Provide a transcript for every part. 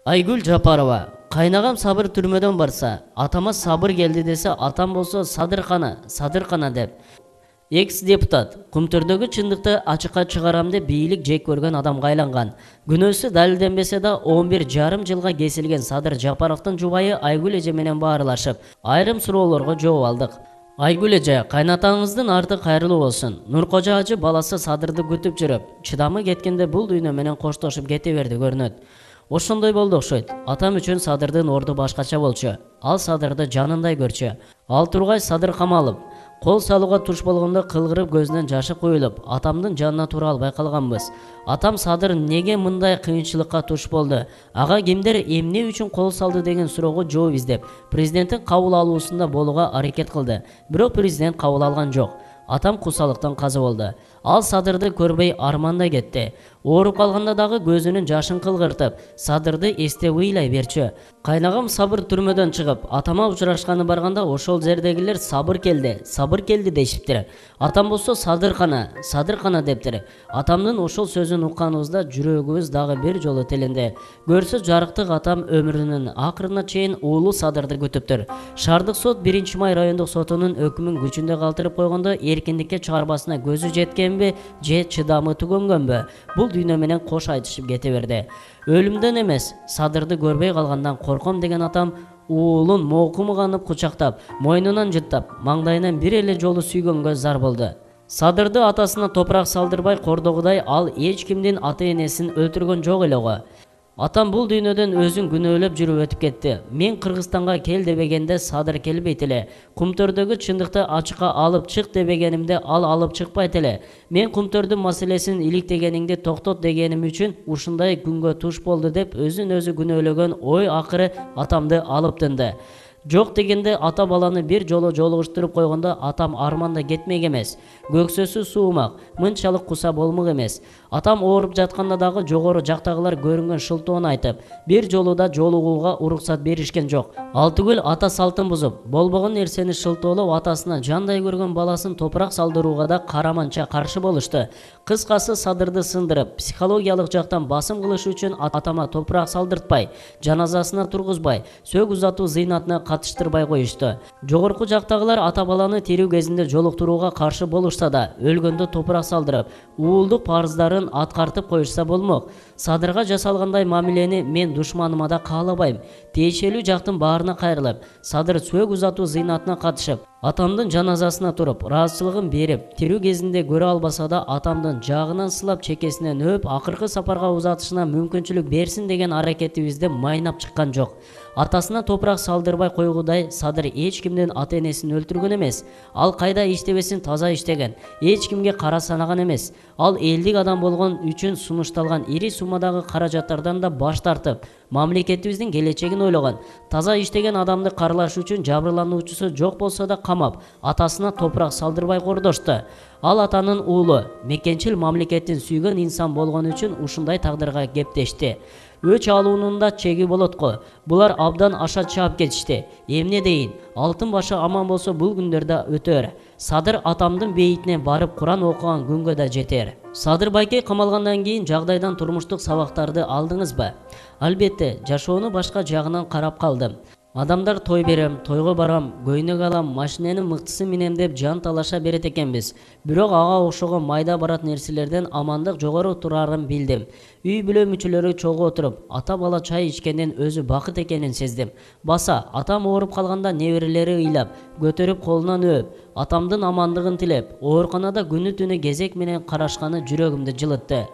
Айгүл Жапарова. Кайнагам Сабыр түрмөдөн барса, атама Сабыр келди десе, атам болсо Садыркана деп. Экс-депутат Кумтөрдөгү чындыкты ачыкка чыгарам деп бийлик жек көргөн адамга айланган. Күнөөсү далилденбесе да 11,5 жылга кесилген Садыр Жапаровдун жубайы Айгүл эже менен баарлашып, айрым суроолорго жооп алдык. Айгүл эже, кайнатаңыздын арты кайрылуу болсун. Нуркожо ажы баласы Садырды күтүп жүрүп, чыдамы кеткенде бул дүйнө менен коштошуп кете берди көрүнөт. Ошондой болду окшойт. Атам үчүн Садырдын орду башкача болчу. Ал Садырды жанындай көрчү. Ал тургай Садыр камалып, кол салууга туш болгондо кылгырып көзүнөн жашы куюлуп, атамдын жанына тура албай калганбыз. Атам Садыр неге мындай кыйынчылыкка туш болду? Ага кимдер эмне үчүн кол салды деген суроого жооп издеп, президенттин кабыл алуусунда болууга аракет кылды. Бирок президент кабыл алган жок. Атам кусалыктан каза болду. Ал Садырды көрбөй арманда кетти. Ооруп калганда дагы көзүнүн жашын кылгыртып, Садырды эстеп ыйлай берчү. Кайнагам Сабыр түрмөдөн чыгып, атама учурашканы барганда ошол жердегилер Сабыр келди дешиптир. Атам болсо Садыркана дептир. Атамдын ошол сөзүн укканыбызда жүрөгүбүз дагы бир жолу теленди. Көрсө жарыктык атам өмүрүнүн акырына чейин уулу Садырды күтүптүр. Шаардык сот 1-май райондук сотунун өкүмүн күчүндө калтырып койгондо эркиндикке чыгарбасына көзү жеткенби, же чыдамы түгөнгөнбү? Бул дүйнө менен кош айтышып кете берди. Өлүмдөн эмес, Садырды көрбөй калгандан корком деген атам уулун моокумуганып кучактап, мойнунан жыттап, маңдайынан бир эле жолу сүйгөнгө зар болду. Садырды атасына топурак салдырбай кордогудай ал эч кимдин ата-энесин өлтүргөн жок эле го. Атам бул дүйнөдөн өзүн күнөөлөп жүрүп өтүп кетти. Мен Кыргызстанга кел дебегенде Садыр келбейт эле. Кумтөрдөгү чындыкты ачыкка алып чык дебегенимде ал алып чыкпайт эле. Мен Кумтөрдүн маселесин иликтегениңди токтот дегеним үчүн ушундай күнгө туш болду деп өзүн өзү күнөөлөгөн ой акыры атамды алып тынды. Жок дегенде ата баланы бир жолу жолугуштуруп койгондо атам арманда кетмек эмес. Көксөсү суумак, мынчалык куса болмок эмес. Атам ооруп жатканда дагы жогору жактагылар көрүнгөн шылтоону айтып, бир жолу да жолугууга уруксат беришкен жок. Ал түгүл ата салтын бузуп, болбогон нерсени шылтоолоп атасына жандай көргөн баласын топурак салдырууга да караманча каршы болушту. Кыскасы Садырды сындырып, психологиялык жактан басым кылыш үчүн атама топурак салдыртпай, жаназасына тургузбай, сөк узатуу зыйнатына катыштырбай коюшту. Жогорку жактагылар ата баланы тирүү кезинде жолуктурууга каршы болушса да, өлгөндө топурак салдырып, уулдук парыздарын аткартып коюшса болмок. Садырга жасалгандай мамилени мен душманыма да каалабайм. Тиешелүү жактын баарына кайрылып, Садыр сөк узатуу зыйнатына катышып, атамдын жаназасына туруп, ыраазычылыгын берип, тирүү кезинде көрө албаса да атамдын жагынан сылап, чекесинен өп, акыркы сапарга узатышына мүмкүнчүлүк берсин деген аракетибизди майнап чыккан жок. Атасына топурак салдырбай койгудай Садыр эч кимдин ата-энесин өлтүргөн эмес. Ал кайда иштебесин таза иштеген, эч кимге кара санаган эмес. Ал элдик адам болгон үчүн сунушталган ири суммадагы каражаттардан да баш тартып, мамлекетибиздин келечегин ойлогон. Таза иштеген адамды каралаш үчүн жабырлануучусу жок болсо да камап, атасына топурак салдырбай кордошту. Ал атанын уулу, мекенчил мамлекеттин сүйгөн инсан болгон үчүн ушундай тагдырга кептешти. Өч алуунун да чеги болот го. Булар абдан аша чаап кетишти. Эмне дейин, алтын башы аман болсо бул күндөрдө өтөр. Садыр атамдын бейитине барып Куран окуган күнгө да жетер. Садыр байкей камалгандан кийин жагдайдан турмуштук сабактарды алдыңызбы? Албетте, жашоону башка жагынан карап калдым. Адамдар той берем, тойго барам, көйнөк алам, машиненин мыктысын минем деп жан талаша берет экенбиз. Бирок ага окшогон майда барат нерселерден амандык жогору турарын билдим. Үй бүлө мүчөлөрү чогуу отуруп, ата бала чай ичкенден өзү бакыт экенин сездим. Баса, атам ооруп калганда неберелери ыйлап, көтөрүп колунан өөп, атамдын амандыгын тилеп, ооруканада күнү-түнү кезек менен карашканы жүрөгүмдү жылытты.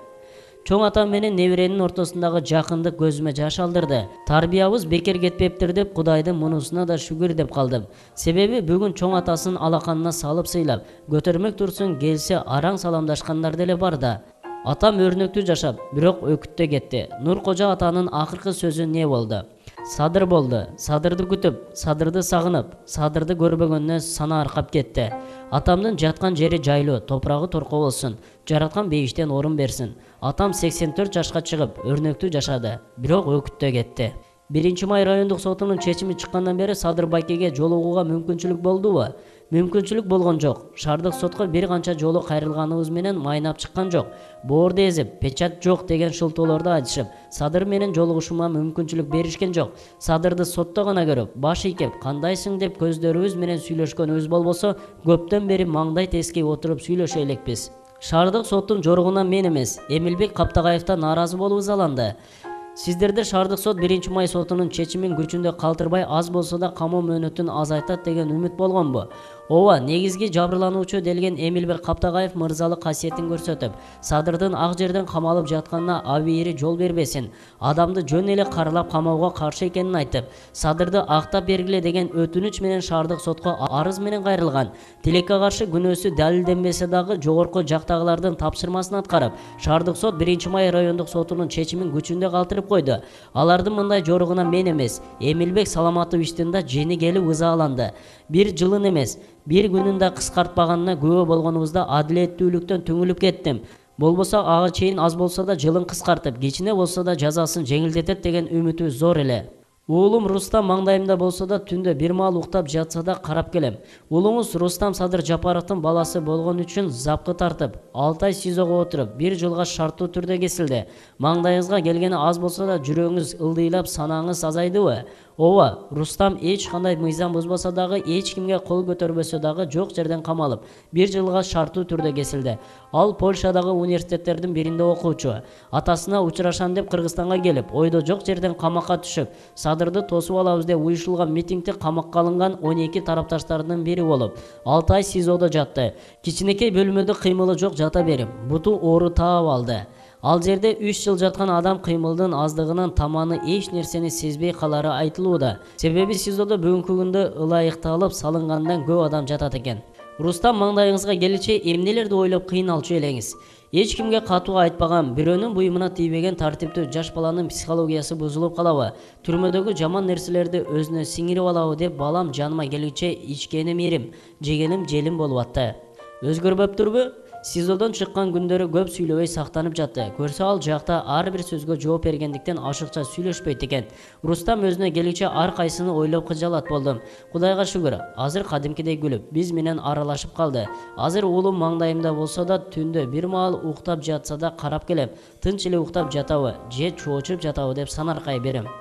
Чоң атам менен неберенин ортосундагы жакындык көзүмө жаш алдырды. Тарбиябыз бекер кетпептир деп Кудайдын мунусуна да шүгүр деп калдым. Себеби бүгүн чоң атасын алаканына салып сыйлап, көтөрмөк турсун келсе араң саламдашкандар деле бар да. Атам өрнөктүү жашап, бирок өкүттө кетти. Нуркожо атанын акыркы сөзү не болду? Садыр болду. Садырды күтүп, Садырды сагынып, Садырды көрбөгөнүнө сана аркап кетти. Атамдын жаткан жери жайлуу, топурагы торко болсун, жараткан бейиштен орун берсин. Атам 84 жашка чыгып, өрнөктүү жашады, бирок өкүттө кетти. 1-май райондук сотунун чечими чыккандан бери Садыр байкеге жолугууга мүмкүнчүлүк болдубу? мүмкүнчүлүк болгон жок. Шаардык сотко бир канча жолу кайрылганыбыз менен майнап чыккан жок. Боорду эзип, печат жок деген шылтоолорду айтышып, Садыр менен жолугушуума мүмкүнчүлүк беришкен жок. Садырды сотто гана көрүп, баш ийкеп, кандайсың деп көздөрүбүз менен сүйлөшкөнүбүз болбосо, көптөн бери маңдай тескей отуруп сүйлөшө элекпиз. Шаардык соттун жоругуна мен эмес, Эмилбек Каптагаевден нааразы болуп ызаланды. Сиздерди Шаардык сот 1-май сотунун чечимин күчүндө калтырбай аз болсо да камоо мөөнөтүн азайтат деген үмүт болгонбу? Ооба, негизги жабырлануучу делген Эмилбек Каптагаев мырзалык касиетин көрсөтүп, Садырдын ак жерден камалып жатканына абийири жол бербесин, адамды жөн эле каралап камоого каршы экенин айтып, Садырды актап бергиле деген өтүнүч менен Шаардык сотко арыз менен кайрылган. Тилекке каршы күнөөсү далилденбесе дагы жогорку жактагылардын тапшырмасын аткарып, Шаардык сот 1-май райондук сотунун чечимин күчүндө калтырып койду. Алардын мындай жоругуна мен эмес, Эмилбек Саламатовичтин да жени келип ызаланды. Бир жылын эмес, бир күнүн да кыскартпаганына күбө болгонубузда адилеттүүлүктөн түңүлүп кеттим. Болбосо ага чейин аз болсо да жылын кыскартып, кичине болсо да жазасын жеңилдетет деген үмүтүбүз зор эле. Уулум Рустам маңдайымда болсо да түндө бир маал уктап жатса да карап келем. Уулуңуз Рустам Садыр Жапаровдун баласы болгон үчүн запкы тартып, 6 ай СИЗОго отуруп, 1 жылга шарттуу түрдө кесилди. Маңдайыңызга келгени аз болсо да жүрөгүңүз ылдыйлап, санаңыз азайдыбы? Ооба, Рустам эч кандай мыйзам бузбаса дагы, эч кимге кол көтөрбөсө дагы жок жерден камалып, 1 жылга шарттуу түрдө кесилди. Ал Польшадагы университеттердин биринде окуучу. Атасына учурашам деп Кыргызстанга келип, ойдо жок жерден камакка түшүп, Садырды тосуп алабыз деп уюшулган митингде камакка алынган 12 тарапташтарынын бири болуп, 6 ай СИЗОдо жатты. Кичинекей бөлмөдө кыймылы жок жата берип, буту оору таап алды. Ал жерде 3 жыл жаткан адам кыймылдын аздыгынан таманы эч нерсени сезбей калары айтылууда. Себеби СИЗОдо бүгүнкү күндө ылайыкталып салынгандан көп адам жатат экен. Рустам маңдайыңызга келичи эмнелерди ойлоп кыйналчу элеңиз? Эч кимге катуу айтпаган, бирөөнүн буйумуна тийбеген тартиптүү жаш баланын психологиясы бузулуп калабы? Түрмөдөгү жаман нерселерди өзүнө сиңирип алабы деп балам жаныма келүүчө ичкеним ирим, жегеним желим болуп атты. Өзгөрбөптүрбү? СИЗОдон чыккан күндөрү көп сүйлөбөй сактанып жатты. Көрсө ал жакта ар бир сөзгө жооп бергендиктен ашыкча сүйлөшпөйт экен. Рустам өзүнө келүүчө ар кайсыны ойлоп кыжалат болдум. Кудайга шүгүр, азыр кадимкидей күлүп, биз менен аралашып калды. Азыр уулум маңдайымда болсо да түндө бир маал уктап жатса да карап келем. Тынч эле уктап жатабы, же чоочуп жатабы деп санаркай берем.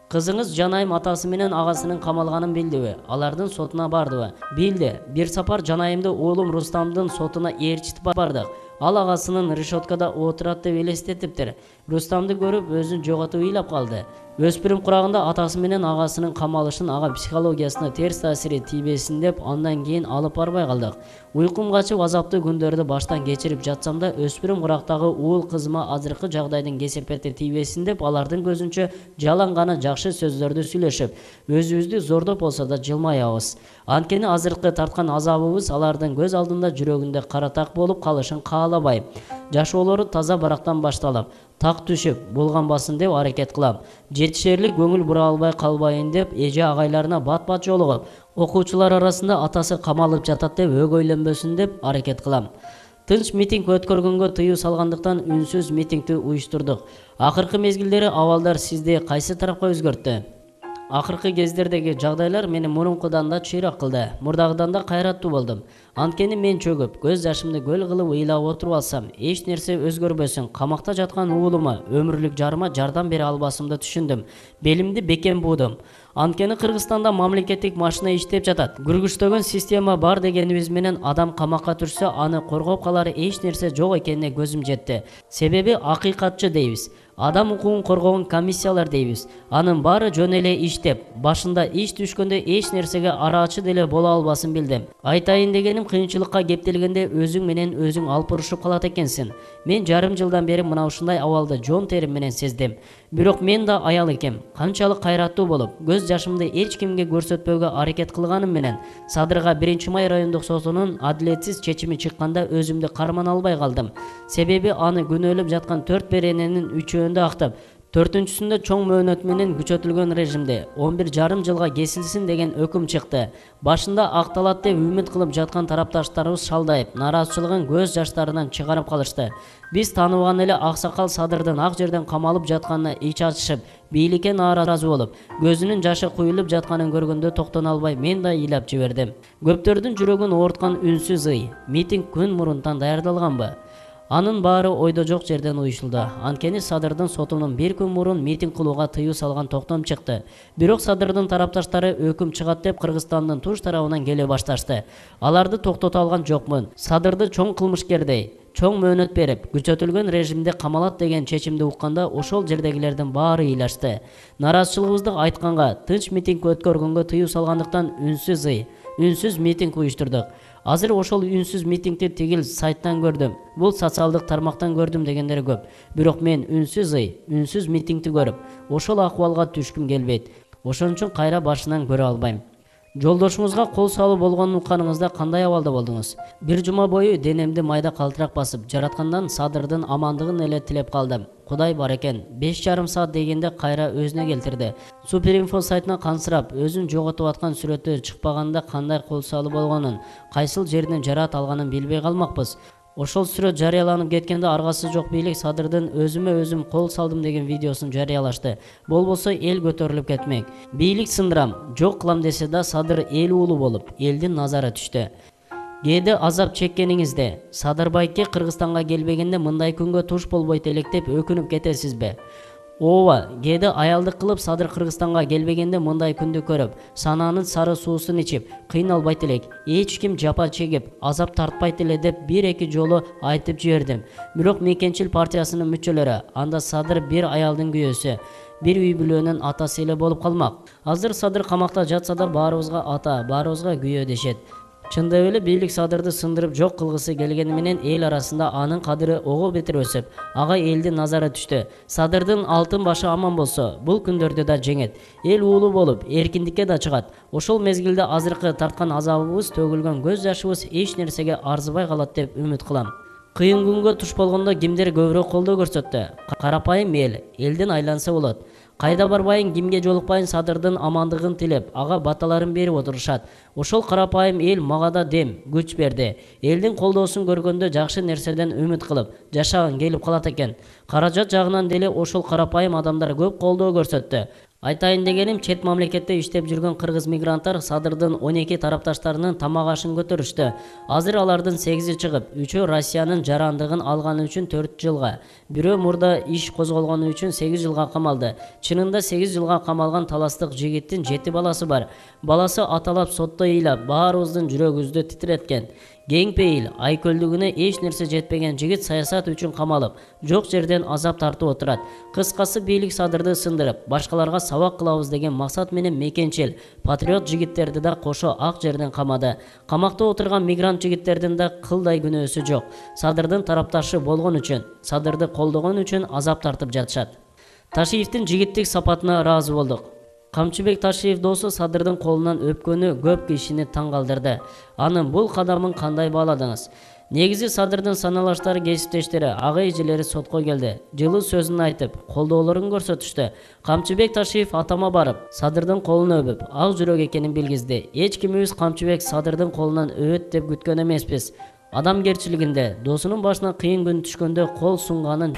Кызыңыз Жанайым атасы менен агасынын камалганын билдиби? Алардын сотуна бардыбы? Билди. Бир сапар Жанайымды уулум Рустамдын сотуна ээрчитип бардык. Ал агасынын решеткада отурат деп элестетиптир. Рустамды көрүп өзүн жоготуп ыйлап калды. Өспүрүм курагында атасы менен агасынын камалышын ага психологиясына терс таасири тийбесин деп андан кийин алып барбай калдык. Уйкум качып азаптуу күндөрдү баштан кечирип жатсам да өспүрүм курактагы уул кызыма азыркы жагдайдын кесепети тийбесин деп алардын көзүнчө жалаң гана жакшы сөздөрдү сүйлөшүп, өзүбүздү зордоп болсо да жылмаябыз. Анткени азыркы тарткан азабыбыз алардын көз алдында жүрөгүндө каратак болуп калышын каалабайм. Жашоолору таза барактан башталып, так түшүп булганбасын деп аракет кылам. Жетишерлик көңүл бура албай калбайын деп эже агайларына бат-бат жолугуп, окуучулар арасында атасы камалып жатат деп өгөйлөнбөсүн деп аракет кылам. Тынч митинг өткөргөнгө тыюу салгандыктан үнсүз митингди уюштурдук. Акыркы мезгилдери абалдар сизди кайсы тарапка өзгөрттү? Акыркы кездердеги жагдайлар мени мурункудан да чыйрак кылды. Мурдагыдан да кайраттуу болдум. Анткени мен чөгүп, көз жашымды көл кылып ыйлап отуруп алсам, эч нерсе өзгөрбөсүн. Камакта жаткан уулума, өмүрлүк жарыма жардам бере албасымды түшүндүм. Белимди бекем буудум. Анткени Кыргызстанда мамлекеттик машина иштеп жатат. Күргүчтөгөн система бар дегенибиз менен адам камакка түшсө, аны коргоп калары эч нерсе жок экенине көзүм жетти. Себеби акыйкатчы дейбиз. Адам укугун коргогон комиссиялар дейбиз. Анын баары жөн эле иштеп, башында иш түшкөндө эч нерсеге араачы деле боло албасын билдим. Айтайын дегеним, кыйынчылыкка кептелгенде өзүң менен өзүң алпурушуп калат экенсиң. Мен жарым жылдан бери мына ушундай абалды жон терим менен сездим. Бирок мен да аял экем. Канчалык кайраттуу болуп, көз жашымды эч кимге көрсөтпөөгө аракет кылганым менен Садырга 1-май райондук сотунун адилетсиз чечими чыкканда өзүмдү карман албай калдым. Себеби аны күнөөлөп жаткан 4 берененин 3-өндө актап, 4-сүндө чоң мөөнөт менен күчөтүлгөн режимде 11,5 жылга кесилсин деген өкүм чыкты. Башында акталат деп үмүт кылып жаткан тарапташтарыбыз шалдайып, нараазычылыгын көз жаштарынан чыгарып калышты. Биз тааныбаган эле аксакал Садырдын ак жерден камалып жатканына ич ачышып, бийликке нааразы болуп, көзүнүн жашы куюлуп жатканын көргөндө токтоно албай мен да ыйлап жибердим. Көптөрдүн жүрөгүн ооруткан үнсүз ый. Митинг күн мурунтан даярдалганбы? Анын баары ойдо жок жерден уюшулду. Анткени Садырдын сотунун бир күн мурун митинг кылууга тыюу салган токтом чыкты. Бирок Садырдын тарапташтары өкүм чыгат деп Кыргызстандын туш тарабынан келе башташты. Аларды токтото алган жокмун. Садырды чоң кылмышкердей чоң мөөнөт берип, күчөтүлгөн режимде камалат деген чечимди укканда ошол жердегилердин баары ыйлашты. Нараазычылыгыбызды айтканга, тынч митинг өткөргөнгө тыюу салгандыктан үнсүз митинг уюштурдук. Азыр ошол үнсүз митингди тигил сайттан көрдүм, бул социалдык тармактан көрдүм дегендер көп. Бирок мен үнсүз митингди көрүп, ошол акыбалга түшкүм келбейт. Ошон үчүн кайра башынан көрө албайм. Жолдошуңузга кол салуу болгонун укканыңызда кандай абалда болдуңуз? Бир жума бою денемди майда калтырак басып, жараткандан Садырдын амандыгын эле тилеп калдым. Кудай бар экен. 5,5 саат дегенде кайра өзүнө келтирди. Суперинфо сайтына кансырап, өзүн жоготуп аткан сүрөтү чыкпаганда кандай кол салуу болгонун, кайсыл жеринен жараат алганын билбей калмакпыз. Ошол сүрөт жарыяланып кеткенде аргасы жок бийлик Садырдын өзүмө өзүм кол салдым деген видеосун жарыялашты. Болбосо эл көтөрүлүп кетмек. Бийлик сындырам, жок кылам десе да Садыр эл уулу болуп, элдин назары түштү. Кээде азап чеккениңизде, Садырбайке Кыргызстанга келбегенде мындай күнгө туш болбойт элек деп өкүнүп кетесизби? Ооба, кээде аялдык кылып Садыр Кыргызстанга келбегенде мындай күндү көрүп, санаанын сары суусун ичип, кыйналбайт элек, эч ким жапа чегип, азап тартпайт эле деп бир-эки жолу айтып жибердим. Бирок Мекенчил партиясынын мүчөлөрү, анда Садыр бир аялдын күйөөсү, бир үй бүлөнүн атасы эле болуп калмак. Азыр Садыр камакта жатса да баарыбызга ата, баарыбызга күйөө дешет. Чындап эле бийлик Садырды сындырып жок кылгысы келгени менен эл арасында анын кадыры ого бетер өсүп, ага элдин назары түштү. Садырдын алтын башы аман болсо, бул күндөрдү да жеңет. Эл уулу болуп, эркиндикке да чыгат. Ошол мезгилде азыркы тарткан азабыбыз, төгүлгөн көз жашыбыз эч нерсеге арзыбай калат деп үмүт кылам. Кыйын күнгө туш болгондо кимдер көбүрөөк колдоо көрсөттү? Карапайым элдин айланса болот. Кайда барбайын, кимге жолукпайын Садырдын амандыгын тилеп, ага баталарын берип отурушат. Ошол карапайым эл мага да дем, күч берди. Элдин колдоосун көргөндө жакшы нерседен үмүт кылып, жашагың келип калат экен. Каражат жагынан деле ошол карапайым адамдар көп колдоо көрсөттү. Айтайын дегеним, чет мамлекетте иштеп жүргөн кыргыз мигранттар Садырдын 12 тарапташтарынын тамак ашын көтөрүштү. Азыр алардын 8 чыгып, 3 Россиянын жарандыгын алганы үчүн 4 жылга, бирөө мурда иш козголгону үчүн 8 жылга камалды. Чынында 8 жылга камалган таластык жигиттин 7 баласы бар. Баласы аталап сотто ыйлап, баарыбыздын жүрөгүбүздү титиреткен. Кеңпейил, айкөлдүгүнө эч нерсе жетпеген жигит саясат үчүн камалып, жок жерден азап тартып отурат. Кыскасы бийлик Садырды сындырып, башкаларга сабак кылабыз деген максат менен Мекенчил, патриот жигиттерди да кошо ак жерден камады. Камакта отурган мигрант жигиттердин да кылдай күнөөсү жок. Садырдын тарапташы болгон үчүн, Садырды колдогон үчүн азап тартып жатышат. Ташиевдин жигиттик сапатына ыраазы болдук. Камчыбек Ташиев досу Садырдын колунан өпкөнү көп кишини таң калтырды. Анын бул кадамын кандай бааладыңыз? Негизи Садырдын саналаштары, кесиптештери, ага эжелери сотко келди. Жылуу сөзүн айтып, колдоолорун көрсөтүштү. Камчыбек Ташиев атама барып, Садырдын колун өбүп, ак жүрөк экенин билгизди. Эч кимибиз Камчыбек Садырдын колунан өбөт деп күткөн эмеспиз. Адамгерчилигинде, досунун башына кыйын күн түшкөндө кол сунганын